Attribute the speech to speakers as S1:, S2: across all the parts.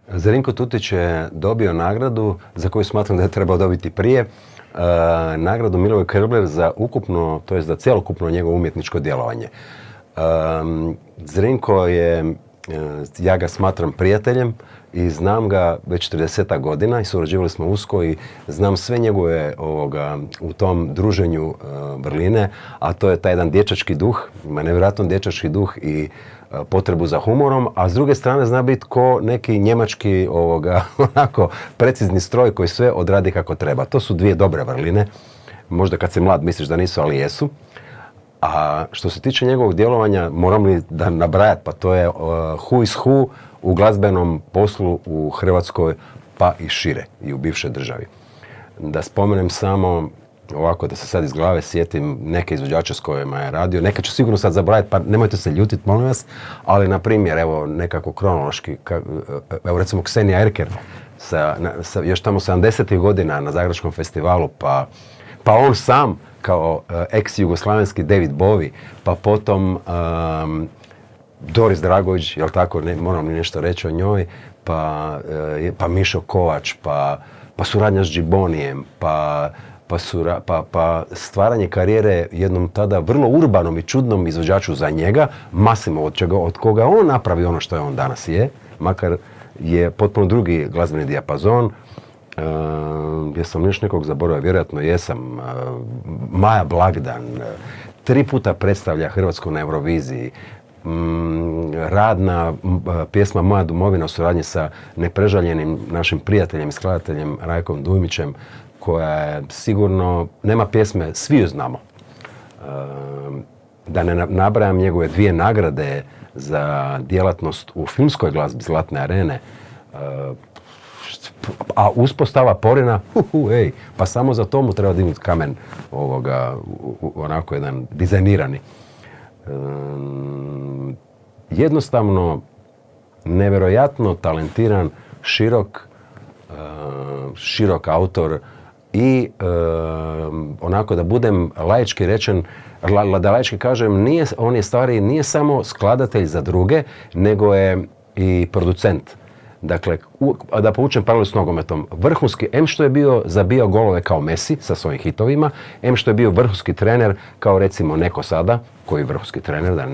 S1: Zrinko Tutić je dobio nagradu za koju smatram da je trebao dobiti prije. Nagradu Milivoj Kerbler za ukupno, to je za cjelokupno njegovo umjetničko djelovanje. Zrinko je, ja ga smatram prijateljem i znam ga već 30 godina i surađivali smo usko i znam sve njegove u tom druženju vrline, a to je taj jedan dječački duh, ima nevjerojatan dječački duh i potrebu za humorom, a s druge strane zna biti ko neki njemački onako precizni stroj koji sve odradi kako treba. To su dvije dobre vrline. Možda kad si mlad misliš da nisu, ali jesu. A što se tiče njegovog djelovanja, moram li da nabrajat, pa to je who is who u glazbenom poslu u Hrvatskoj, pa i šire, i u bivšoj državi. Da spomenem samo, ovako da se sad iz glave sjetim neke izvođače s kojima je radio, neka ću sigurno sad zaboraviti, pa nemojte se ljutiti, molim vas, ali na primjer, evo, nekako kronološki, evo recimo Ksenija Erker, još tamo 70. godina na Zagrebačkom festivalu, pa on sam, kao ex-jugoslavenski David Bowie, pa potom Doris Dragović, jel tako, moram li nešto reći o njoj, pa Mišo Kovač, pa suradnja s Džibonijem, pa stvaranje karijere jednom tada vrlo urbanom i čudnom izvođaču za njega, Massimo, od koga on napravi ono što je on danas je, makar je potpuno drugi glazbeni dijapazon. Jesam još nekog zaboravio, vjerojatno jesam. Maja Blagdan 3 puta predstavlja Hrvatsku na Euroviziji. Radna pjesma Moja domovina u suradnji sa neprežaljenim našim prijateljem i skladateljem Rajkom Dujmićem, koja je sigurno, nema pjesme, svi ju znamo. Da ne nabrajam njegove 2 nagrade za djelatnost u filmskoj glazbi Zlatne arene, a uspostava Porina, pa samo za to mu treba dignuti kamen onako jedan dizajnirani. Jednostavno, nevjerojatno talentiran, širok autor i onako da budem laički rečen, da laički kažem, on je stvari nije samo skladatelj za druge, nego je i producent. Dakle, da povučem paralelu s nogometom, vrhunski, što je zabijao golove kao Messi sa svojim hitovima, što je bio vrhunski trener kao recimo neko sada, koji je vrhunski trener, da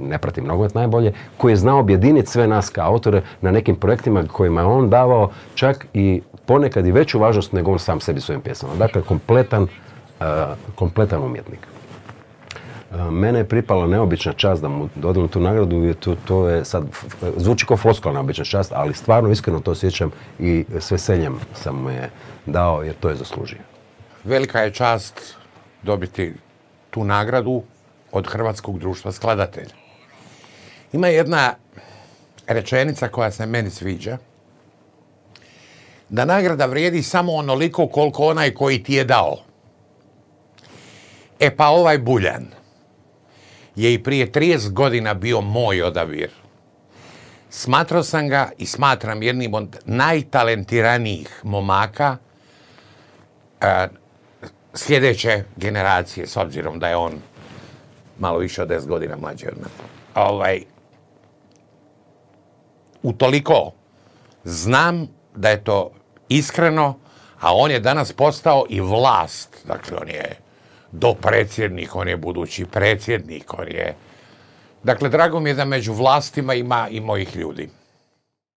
S1: ne pratim nogomet najbolje, koji je znao objediniti sve nas kao autore na nekim projektima kojima je on davao čak i ponekad i veću važnost nego on sam sebi svojim pjesmama. Dakle, kompletan umjetnik. Mene je pripala neobična čast da mu dodelim tu nagradu i to je sad, zvuči kao floskula neobična čast, ali stvarno iskreno to osjećam i s veseljem sam mu je dao jer to je zaslužio.
S2: Velika je čast dobiti tu nagradu od Hrvatskog društva skladatelja. Ima jedna rečenica koja se meni sviđa, da nagrada vrijedi samo onoliko koliko onaj koji ti je dao. E pa ovaj Buljan je i prije 30 godina bio moj odabir. Smatrao sam ga i smatram jednim od najtalentiranijih momaka sljedeće generacije, s obzirom da je on malo više od 10 godina mlađi od mene. Utoliko znam da je to iskreno, a on je danas postao i vlast. Dakle, on je dopredsjednik, on je budući predsjednik, on je... Dakle, drago mi je da među vlastima ima i mojih ljudi.